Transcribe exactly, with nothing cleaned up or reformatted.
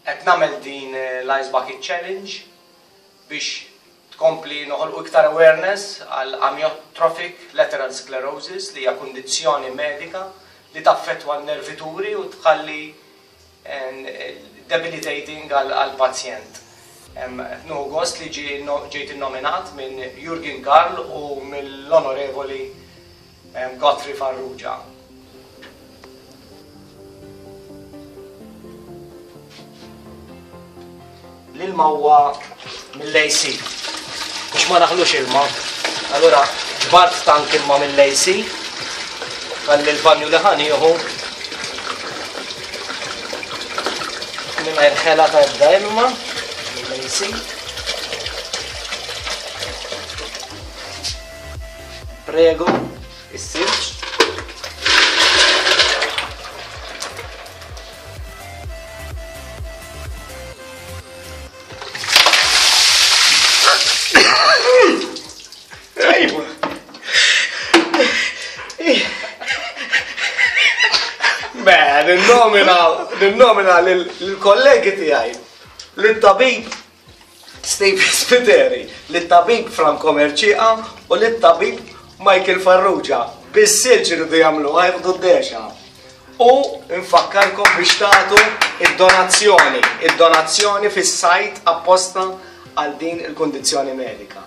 Qed nagħmel din l-Ice Bucket Challenge biex tkompli noħolqu iktar awareness għal amyotrophic lateral sclerosis, li hija kundizzjoni medika li taffettwa l-nervituri u tħalli debilitating għal pazjent. Nieħu gost li ġejt innominat minn Jurgen Karl u mill-Onorevoli Godfrey Farrugia. L-ilma huwa mill-A C biex ma naħlux ilma. Allura ġbart tank ilma mill-A C għalli l-banju li ħa nieħu mingħajr ħela ta' ebda ilma mill-A C. Prego, is-silġ. Beh, ninnomina, ninnomina lill-kollegi tiegħi, lit-tabib Steve Spiteri, lit-tabib Franco Mercieca u lit-tabib Michael Farrugia. Bis-silġ iridu jagħmlu, jieħdu d-dexa. U nfakkarkom biex tagħtu id-donazzjoni, id-donazzjoni fis-sajt apposta għal din il-kundizzjoni medika.